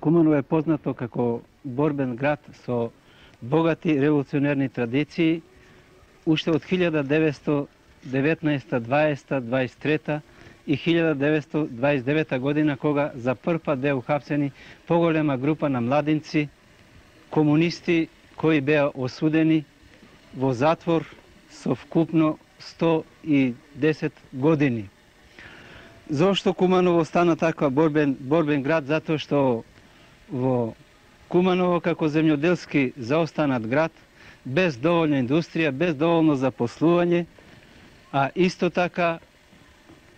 Куманово е познато како борбен град со богати револуционерни традиции, уште од 1919, 20, 23 и 1929 година, кога за прв пат беа ухапсени поголема група на младинци, комунисти, кои беа осудени во затвор со вкупно 110 години. Зошто Куманово стана таква борбен град? Затоа што во Куманово како земјоделски заостанат град, без доволна индустрија, без доволно запослување, а исто така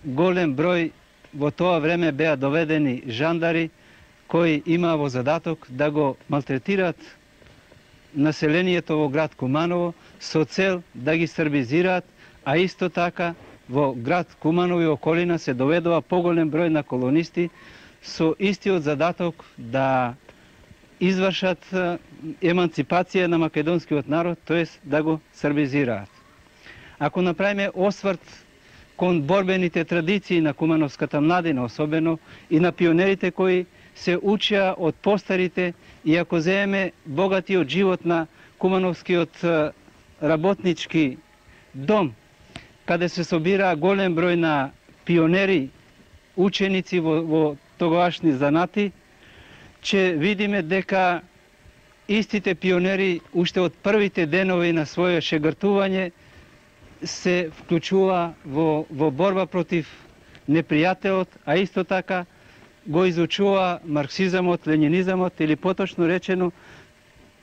голем број во тоа време беа доведени жандари кои имаа во задаток да го малтретираат населението во град Куманово со цел да ги србизираат, а исто така во град Куманово и околина се доведува поголем број на колонисти со истиот задаток да извршат еманципација на македонскиот народ, тоест да го србизираат. Ако направиме осврт кон борбените традиции на кумановската младина, особено и на пионерите кои се учеа од постарите, и ако земеме богатиот живот на кумановскиот работнички дом, каде се собира голем број на пионери, ученици во тогашни занати, ќе видиме дека истите пионери уште од првите денови на своје шегртување се вклучува во борба против непријателот, а исто така го изучува марксизамот, ленинизамот, или поточно речено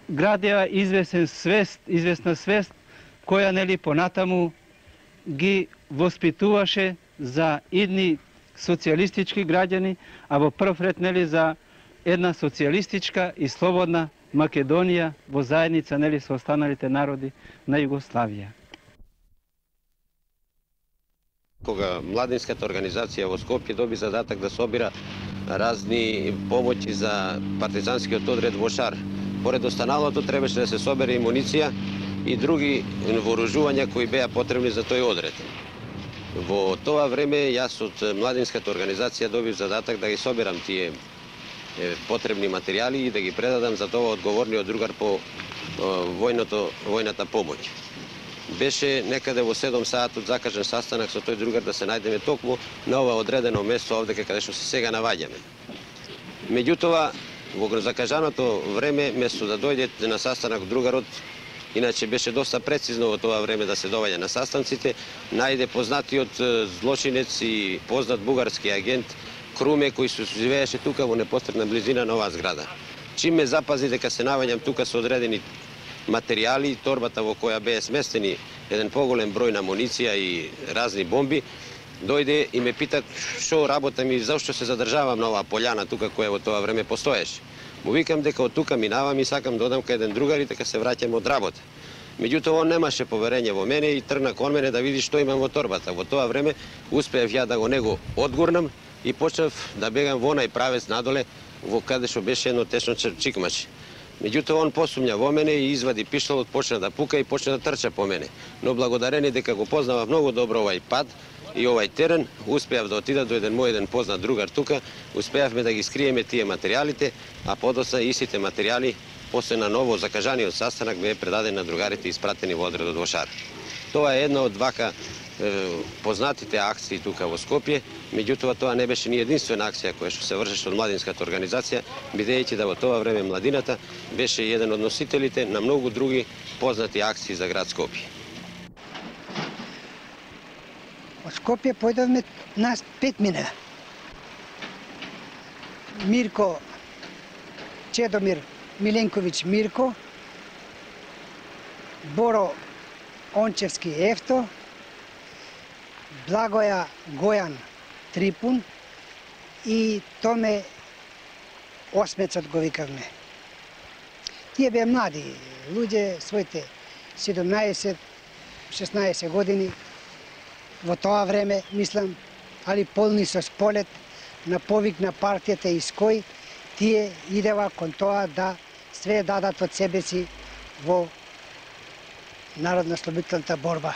градеа известна свест која нели понатаму ги воспитуваше за идни социјалистички граѓани, а во прв ред нели за една социјалистичка и слободна Македонија во заедница нели со останалите народи на Југославија. Кога младинската организација во Скопје доби задатак да собира разни помоќи за партизанскиот одред во Шар, поред останалото требаше да се собере и муниција и други вооружувања кои беа потребни за тој одред. Во тоа време јас од младинската организација добив задатак да ги соберам тие потребни материјали и да ги предадам за тоа одговорниот другар по војната помоќ. Беше некаде во 7 саатот закажан састанак со тој другар да се најдеме токму на ова одредено место овде каде што се сега наоѓаме. Меѓутоа, во закажаното време, место да дојде на састанак другарот, иначе беше доста прецизно во тоа време да се доаѓа на састанците, најде познатиот злочинец и познат бугарски агент Круме, кој се живееше тука во непосредна близина на оваа зграда. Чим ме запази дека се наоѓам тука со одредени материјали, торбата во која беа сместени еден поголем број на муниција и разни бомби, дојде и ме пита што работам и зашто се задржавам на оваа пољана тука која во тоа време постоеше. Му викам дека од тука минавам и сакам да одам кај еден другар и дека се враќам од работа. Меѓутоа он немаше поверење во мене и тргна кон мене да види што имам во торбата. Во тоа време успеав ја да го него одгурнам и почнав да бегам во онај правец надоле во каде што беше едно течно чикмаче. Меѓутоа он посумња во мене и извади пиштолот, почна да пука и почна да трча по мене. Но благодарение дека го познавав многу добро овај пат и овај терен, успеав да отида до еден познат другар тука, успеавме да ги скриеме тие материјалите, а подоцна истите материјали после на ново закажаниот састанак беа предадени на другарите и испратени во одредот во Шар. Тоа е една од вака познатите акции тука во Скопје, меѓутоа тоа не беше ни единствена акција која што се вршеше од младинската организација, бидејќи да во тоа време младината беше еден од носителите на многу други познати акции за град Скопје. Од Скопје појдовме нас 5 мина. Мирко Чедомир Миленковиќ Мирко, Боро Ончевски Ефто, Благоја Гојан Трипун и Томе Осмецот го викавме. Тие беа млади луѓе, своите 17-16 години во тоа време, мислам, али полни со сполет на повик на партијата из кој тие идева кон тоа да све дадат од себе си во народно-ослободителната борба.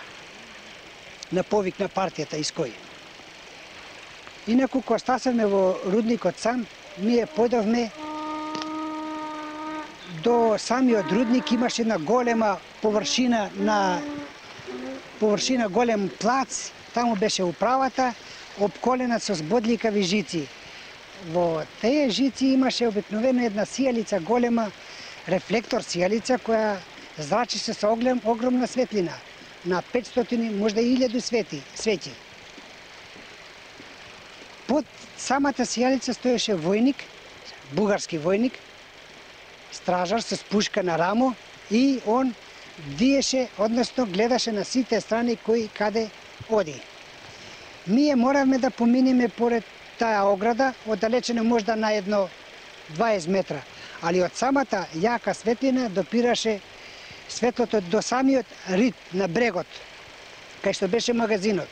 На повик на партијата из кој. Инаку, кога стасавме во рудникот сам, ние појдовме до самиот рудник имаше една голема површина голем плац, таму беше управата, обколена со збодликави жици. Во тие жици имаше обикновено една сијалица голема, рефлектор сијалица која зрачеше со огромна светлина, на 500, можда и 1000 свети. Под самата сијалица стоеше војник, бугарски војник, стражар со пушка на рамо, и он диеше, односно гледаше на сите страни кој каде оди. Ние моравме да поминеме поред таа ограда, оддалечено можда на 20 метра, али од самата јака светлина допираше светлото до самиот рид на брегот, кај што беше магазинот.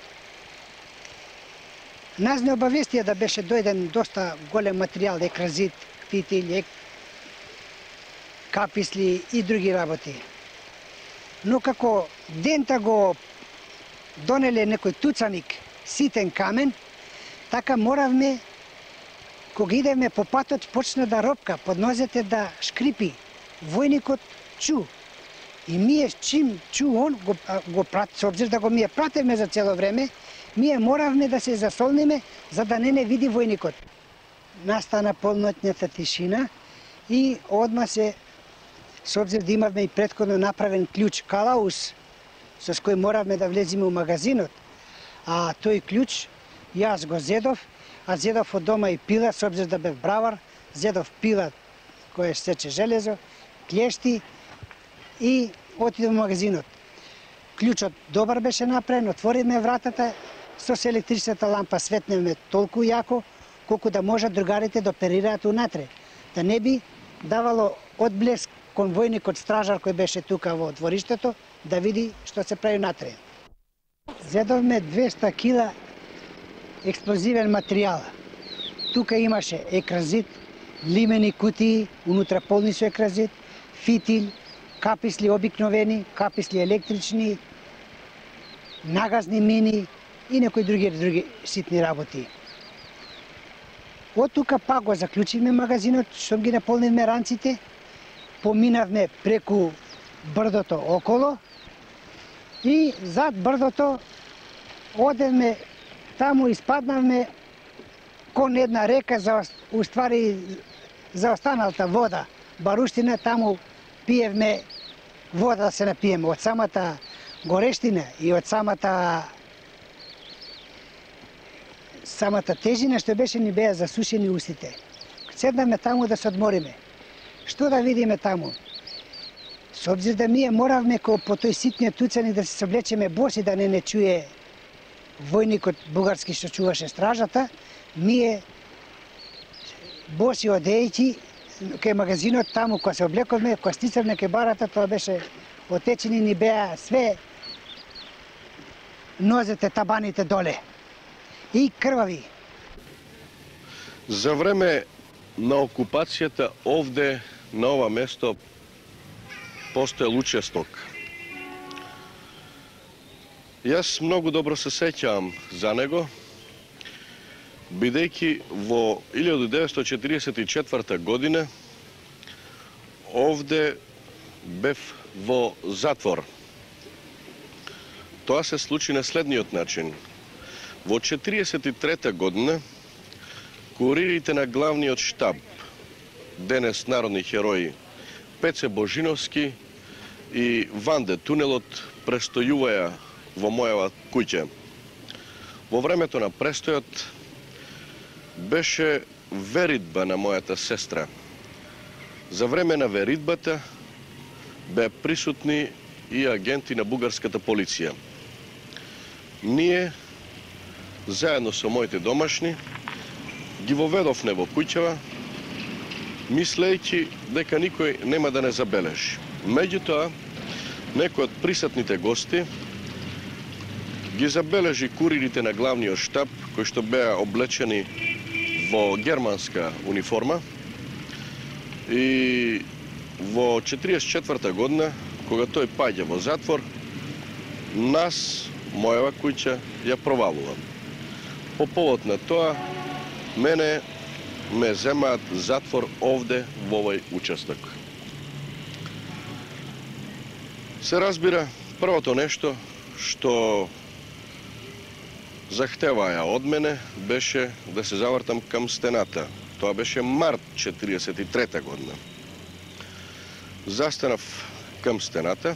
Нас не обавестија да беше дојден доста голем материјал, екразит, фитил, каписли и други работи. Но како дента го донеле некој туцаник, ситен камен, така моравме, кога идеме по патот, почна да ропка, под нозете да шкрипи. Војникот чу. И ние чим чу он, го прат, со обзир да го ми пратевме за цело време, ние моравме да се засолниме, за да не види војникот. Настана полноќната тишина и одма се, со обзир да имавме и претходно направен клjuč калаус, со кој моравме да влеземе у магазинот, а тој клjuč јас го зедов, а зедов од дома и пила, со обзир да бев бравар, зедов пила која сече железо, клешти и отидов во магазинот. Клjučот добар беше направен, отвориме вратата, со електричната лампа светнеме толку јако, колку да можат другарите да оперираат унатре, да не би давало одблеск кон војникот стражар кој беше тука во двориштето, да види што се прави натре. Зедовме 200 кила експлозивен материјал. Тука имаше екразит, лимени кутии, унутра полни со екразит, фитил, каписли обикновени, каписли електрични, нагазни мини и некои други ситни работи. Од тука пак го заклучивме магазинот, што ги наполнивме ранците, поминавме преку брдото около и зад брдото одевме таму, испаднавме кон една река, за останалата вода, баруштина, таму пиевме вода да се напиеме. Од самата горештина и од самата тежина што беше, ни беа засушени устите. Седнавме таму да се одмориме. Што да видиме таму? Со обзир да ние моравме по тој ситниот туцани да се соблечеме боси, да не чуе војникот бугарски што чуваше стражата, ние боси одејќи кај магазинот, таму кога се облековме, кога стицавме кај барата, тоа беше отечени, ни беа све нозете, табаните доле и крвави. За време на окупацијата овде, на ова место, постоел учесток. Јас многу добро се сеќавам за него, бидејќи во 1944 година овде бев во затвор. Тоа се случи на следниот начин. Во 1943 година куририте на главниот штаб, денес народни херои, Пеце Божиновски и Ванде Тунелот престојуваја во мојава куќа. Во времето на престојот беше веридба на мојата сестра. За време на веридбата беа присутни и агенти на бугарската полиција. Ние, заедно со моите домашни, ги воведовме во куќава, мислејќи дека никој нема да не забележи. Меѓутоа, некој од присутните гости ги забележи куририте на главниот штаб, кои што беа облечени во германска униформа, и во 1944 година, кога тој паѓа во затвор, нас, мојава куќа, ја провалува. По повод на тоа, мене ме земаат затвор овде во овој учесток. Се разбира, првото нешто што захтеваја од мене беше да се завртам кам стената. Тоа беше март 43 година. Застанав кам стената,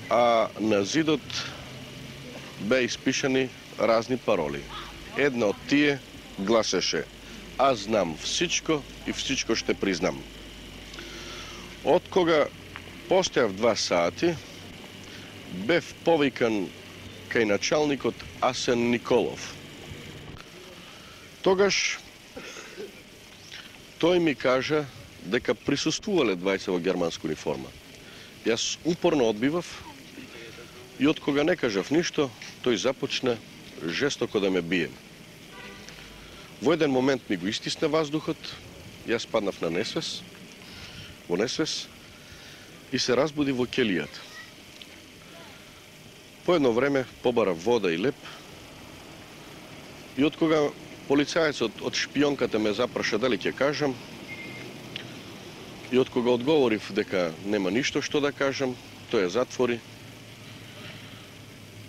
а на зидот беа испишани разни пароли. Една од тие гласеше: "Аз знам всичко и всичко ще признам." Од кога постојав 2 сати, бев повикан кај началникот Асен Николов. Тогаш тој ми кажа дека присуствувале двајца во германска униформа. Јас упорно одбивав и од кога не кажав ништо, тој започна жестоко да ме бие. Во еден момент ми го истисна ваздухот, јас паднав на несвес, во несвес и се разбуди во ќелијата. По едно време побарав вода и леп и од кога полицајецот од шпионката ме запраша дали ќе кажам, и од кога одговорив дека нема ништо што да кажам, тој ја затвори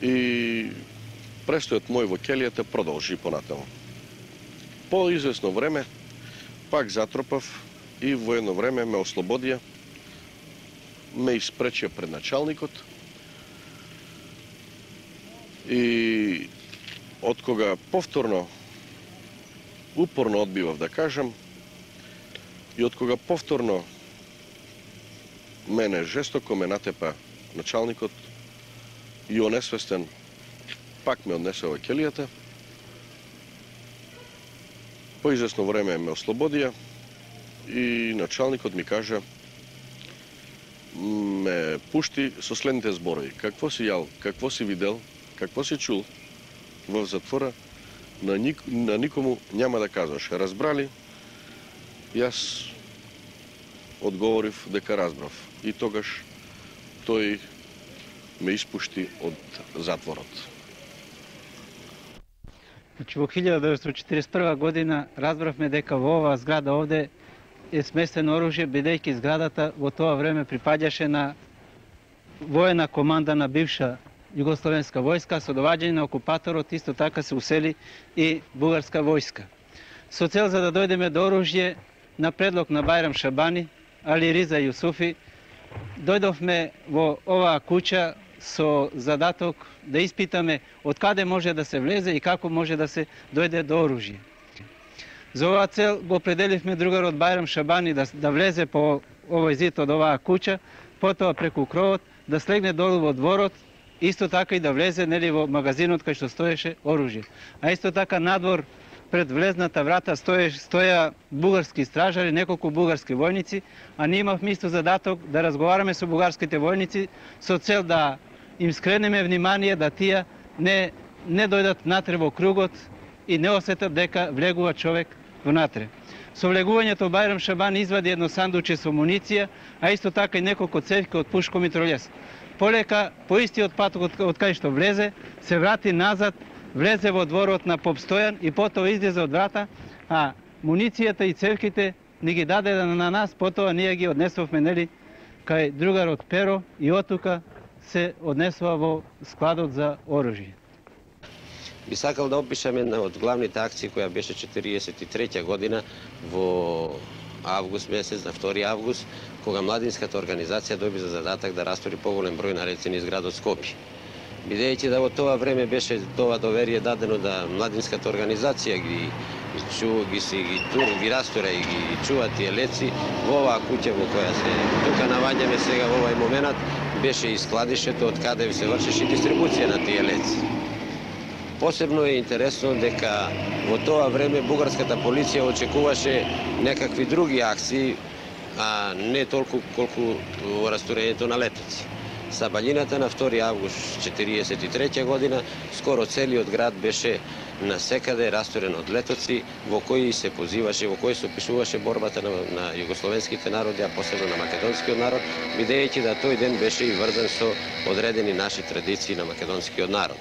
и престојот мој во ќелијата продолжи понатаму. По известно време пак затропав и во едно време ме ослободија, ме испречија пред началникот и од кога повторно упорно одбивав да кажам и од кога повторно мене жестоко ме натепа началникот и онесвестен пак ме однесе во ќелијата, по известно време ме ослободија и началникот ми кажа, ме пушти со следните зборови: "Какво си јал, какво си видел, какво си чул во затвора, на никому няма да кажеш. Разбрали?" Јас одговорив дека разбрав. И тогаш тој ме испушти од затворот. Во 1941 година разбравме дека во оваа зграда овде е сместено оружје, бидејќи зградата во тоа време припаѓаше на воена команда на бивша југословенска војска, со доваѓање на окупаторот исто така се усели и бугарска војска. Со цел за да дојдеме до оружје, на предлог на Бајрам Шабани, Али Риза Јусуфи, дојдовме во оваа куќа со задаток да испитаме од каде може да се влезе и како може да се дојде до оружје. За оваа цел го определивме другарот Бајрам Шабани да влезе по овој зид од оваа куќа, потоа преку кровот да слегне долу во дворот, исто така и да влезе во магазинот кај што стоеше оружје. А исто така надвор пред влезната врата стоја бугарски стражари, неколку бугарски војници, а ние имавме исто задаток да разговараме со бугарските војници со цел да им скренеме внимание да тие не дојдат натре во кругот и не осетат дека влегува човек внатре. Со влегувањето Бајрам Шабани извади едно сандуче со муниција, а исто така и неколку цевки од пушко митролес. Полека, по истиот пат од кај што влезе, се врати назад, влезе во дворот на поп Стојан и потоа излезе од врата, а муницијата и цевките ни ги даде на нас, потоа ние ги однесовме кај другарот Перо и оттука се однесува во складот за оружје. Би сакал да опишам една од главните акции која беше 43 година во август месец, на 2 август, кога младинската организација доби за задатак да растори поголем број на реци низ градот Скопје. Бидејќи да во тоа време беше тоа доверие дадено да младинската организација ги растора и ги чува тие леци, во оваа куќа во која се тука наваѓаме сега во овај момент беше и складишето од каде се вршеше дистрибуција на тие леци. Посебно е интересно дека во тоа време бугарската полиција очекуваше некакви други акции, а не толку колку во растурењето на летоци. Са баљината на 2 август 1943 година, скоро целиот град беше насекаде расторен од летоци, во кои се позиваше, во кои се опишуваше борбата на југословенските народи, а посебно на македонскиот народ, бидејќи да тој ден беше и врзан со одредени наши традиции на македонскиот народ.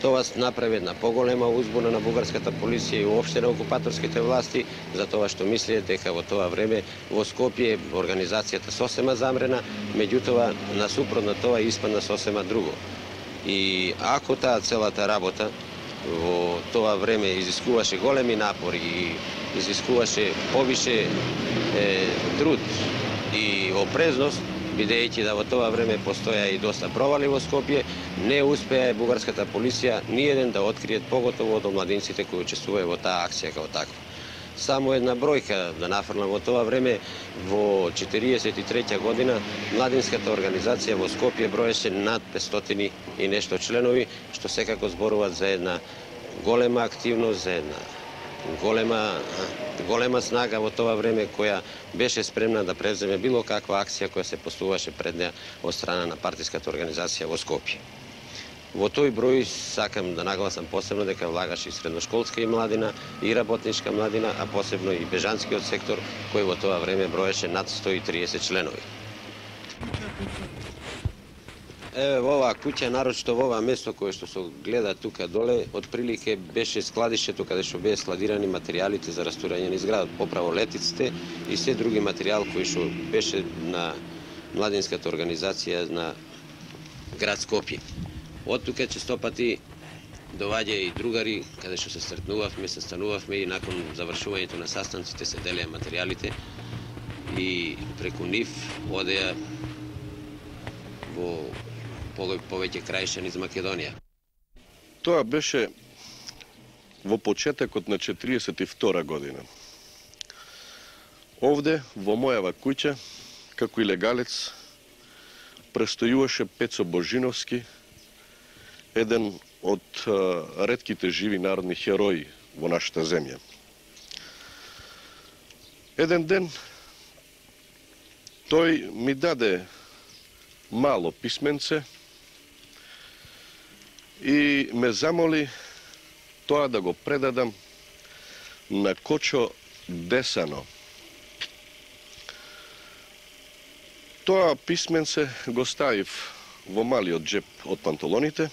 Тоа направи една поголема узбуна на бугарската полиција и уопште на окупаторските власти, за тоа што мислеја дека во тоа време во Скопје организацијата сосема замрена, меѓутоа насупротно тоа испадна сосема друго. И ако таа целата работа во тоа време изискуваше големи напори и изискуваше повише труд и опрезност, бидејќи да во тоа време постоја и доста провали во Скопје, не успеа бугарската полиција ниеден да откриет, поготово од младинците кои учествуваа во таа акција како таква. Само една бројка да нафрлам, во тоа време, во 1943 година, младинската организација во Скопје броеше над 500 и нешто членови, што секако зборуваат за една голема активност, за една голема снага во тоа време која беше спремна да превземе било каква акција која се постуваше пред неа од страна на партиската организација во Скопје. Во тој број сакам да нагласам посебно дека влагаше и средношколска и младина, и работничка младина, а посебно и бежанскиот сектор, кој во тоа време броеше над 130 членови. Еве во оваа куќа, нарочито во ова место кое што се гледа тука доле, отприлике беше складишето каде што беа складирани материјалите за растурање на изградот, поправо летиците и се други материјал кој што беше на младинската организација на град Скопје. Од тука честопати доваѓа и другари каде што се сретнувавме, се станувавме и након завршувањето на састанците се делеа материјалите и преку нив одеа во повеќе крајша низ Македонија. Тоа беше во почетокот на 42 година. Овде, во мојава куќа, како илегалец, престојуваше Пецо Божиновски, еден од ретките живи народни херои во нашата земја. Еден ден тој ми даде мало писменце и ме замоли тоа да го предадам на Кочо Десано. Тоа писменце го ставив во малиот джеп од панталоните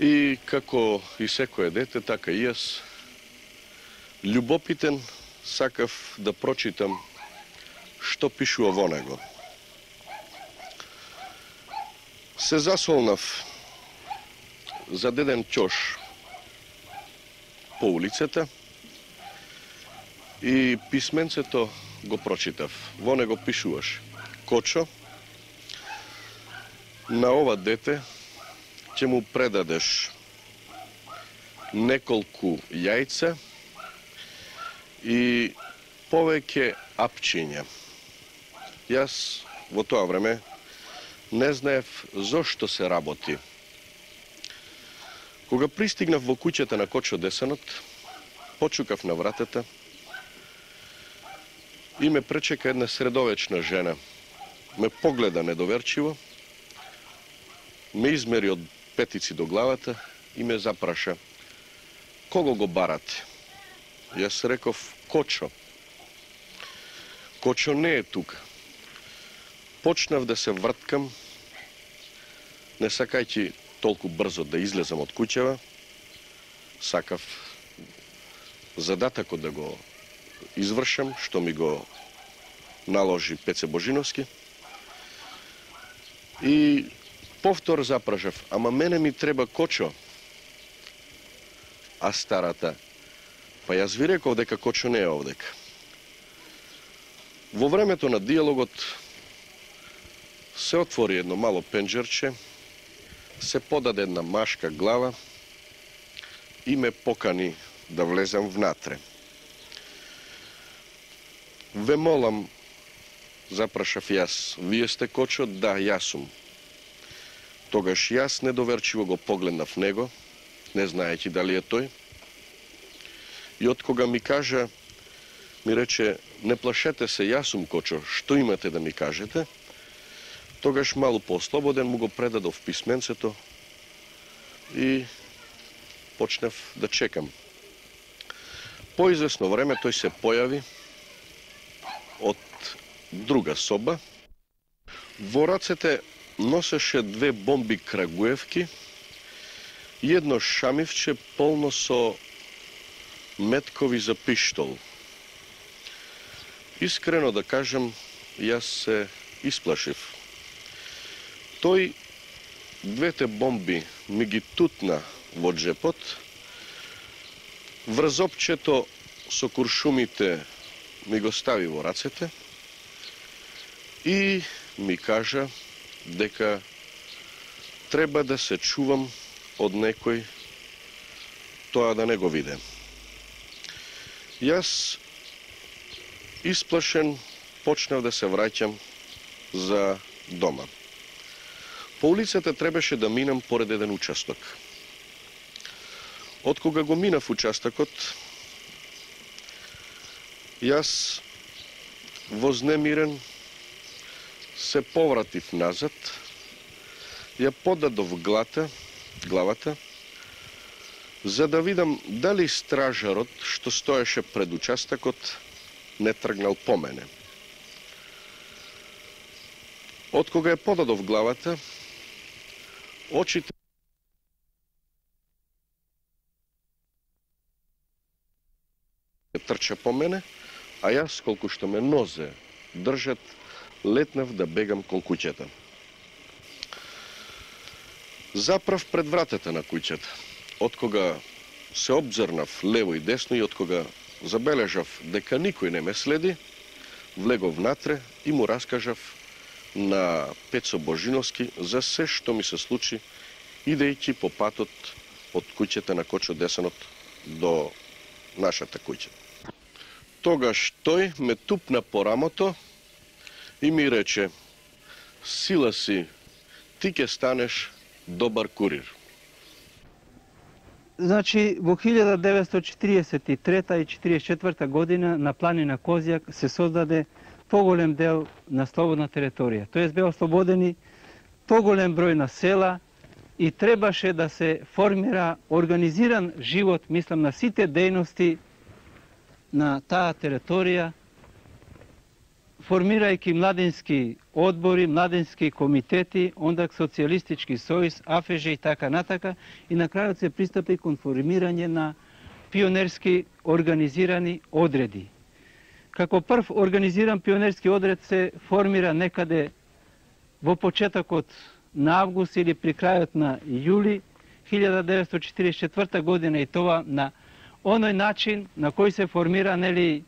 и како и секое дете, така и јас, љубопитен, сакав да прочитам што пишува во него. Се засолнав за деден ќош по улицата и писменцето го прочитав. Во него пишуваш: Кочо, на ова дете ќе му предадеш неколку јајца и повеќе апчиња. Јас во тоа време не знаев зошто се работи. Кога пристигнав во куќата на Кочо Десанот, почукав на вратата и ме пречека една средовечна жена. Ме погледа недоверчиво, ме измери од петици до главата и ме запраша: кого го барате? Јас реков: Кочо. Кочо не е тука. Почнав да се врткам, не сакајќи толку брзо да излезам од куќава. Сакав задатакот да го извршам, што ми го наложи Пеце Божиновски. И повтор запрашав: ама мене ми треба Кочо. А старата: па јас ви реков дека Кочо не е овдека. Во времето на диалогот се отвори едно мало пенџерче, се подаде една машка глава и ме покани да влезам внатре. Ве молам, запрашав јас, вие сте Кочо? Да, јас сум. Тогаш јас недоверчиво го погледнав него, не знаејќи дали е тој. И од кога ми кажа, ми рече: не плашете се, јас сум Кочо, што имате да ми кажете? Тогаш малку поослободен му го предадов писменцето и почнав да чекам. По извесно време тој се појави од друга соба. Во рацете носеше две бомби Крагуевки едно шамивче полно со меткови за пиштол. Искрено да кажем, јас се исплашив. Тој двете бомби ми ги тутна во джепот, врзопчето со куршумите ми го стави во рацете и ми кажа дека треба да се чувам од некој тоа да не го виде. Јас, исплашен, почнав да се враќам за дома. По улицата требаше да минам поред еден участок. Откога го минав участокот, јас вознемирен се повратив назад, ја подадов главата, за да видам дали стражарот што стоеше пред участокот не тргнал по мене. Откога ја подадов главата, очите трча по мене, а јас, колку што ме нозе држат, летнав да бегам кон куќата. Заправ пред вратата на куќата. Откога се обзрнав лево и десно и откога забележав дека никој не ме следи, влегов внатре и му раскажав на Пецо Божиновски за се што ми се случи идејќи по патот од куќата на Кочо Десанот до нашата куќа. Тогаш тој ме тупна по рамото и ми рече: сила си, ти ќе станеш добар курир. Значи, во 1943 и 1944 година на планина Козјак се создаде поголем дел на слободна територија. Тоест беа ослободени поголем број на села и требаше да се формира организиран живот, мислам, на сите дејности на таа територија, формирајќи младински одбори, младински комитети, ондак социјалистички сојуз, АФЖ и така натака, и на крајот се пристапи кон формирање на пионерски организирани одреди. Како прв организиран пионерски одред се формира некаде во почетокот на август или при крајот на јули 1944 година, и тоа на оној начин на кој се формира, нели,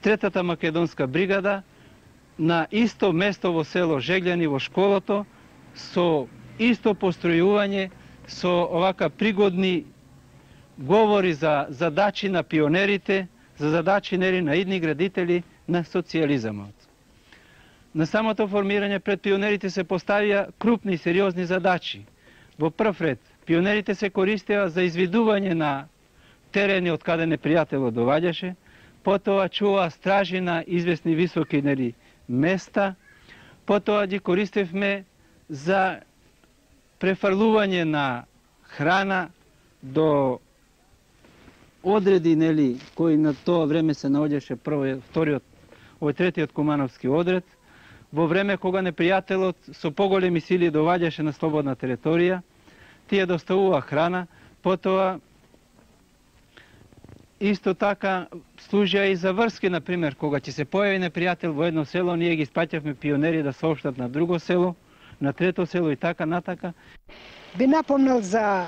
Третата македонска бригада на исто место во село Жеглјани во школото, со исто постројување, со овака пригодни говори за задачи на пионерите, за задачи, нели, на идни градители на социјализамот. На самото формирање пред пионерите се поставија крупни и сериозни задачи. Во прв ред, пионерите се користеа за извидување на терени од каде непријателот доваѓаше, потоа чува стражи на известни високи, нели, места, потоа ги користевме за префрлување на храна до одреди, нели, кои на тоа време се наоѓаше вториот, овој третиот Кумановски одред, во време кога непријателот со поголеми сили доваѓаше на слободна територија, тие доставува храна, потоа исто така служија и за врски, например, кога ќе се појави непријател во едно село, ние ги спаќавме пионери да сообштат на друго село, на трето село и така натака. Би напомнал за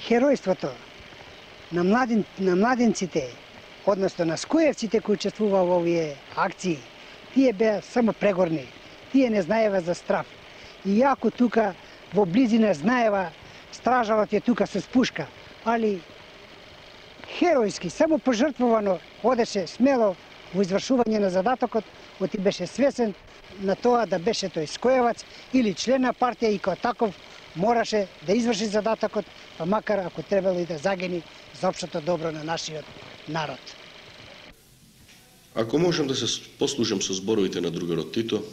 херојството на младинците, односно на скоевците кои учествува во овие акции. Тие беа само прегорни, тие не знаева за страв. И јако тука во близина знаева, стражарот е тука со пушка, али херојски, само пожртвувано, одеше смело во извршување на задатокот, оти беше свесен на тоа да беше тој скоевац или член на партија и како таков мораше да изврши задатокот, па макар ако требало и да загини за општото добро на нашиот народ. Ако можам да се послужам со зборовите на другарот Тито,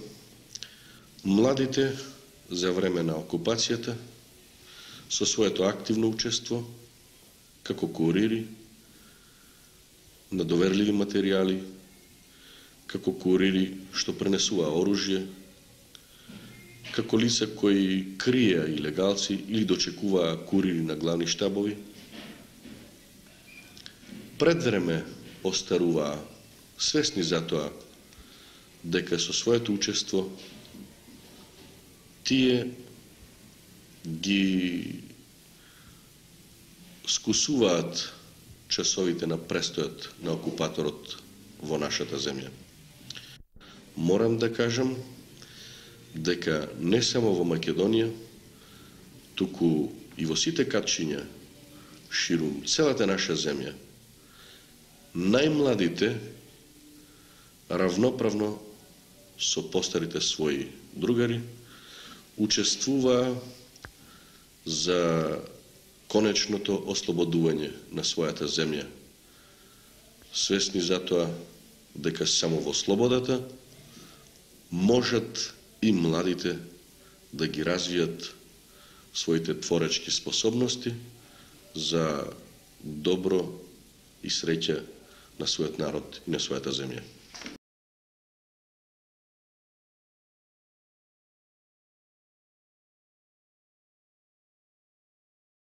младите за време на окупацијата со своето активно учество како курири на доверливи материјали, како курири што пренесуваа оружје, како лица кои криеа илегалци или дочекуваа курири на главни штабови, пред време остаруваа, свесни за тоа дека со своето учество тие ги скусуваат часовите на престојот на окупаторот во нашата земја. Морам да кажам дека не само во Македонија, туку и во сите катчиња ширум целата наша земја, најмладите равноправно со постарите своји другари учествуваа за конечното ослободување на својата земја, свесни за тоа дека само во слободата можат и младите да ги развијат своите творечки способности за добро и среќа на својот народ и на својата земја.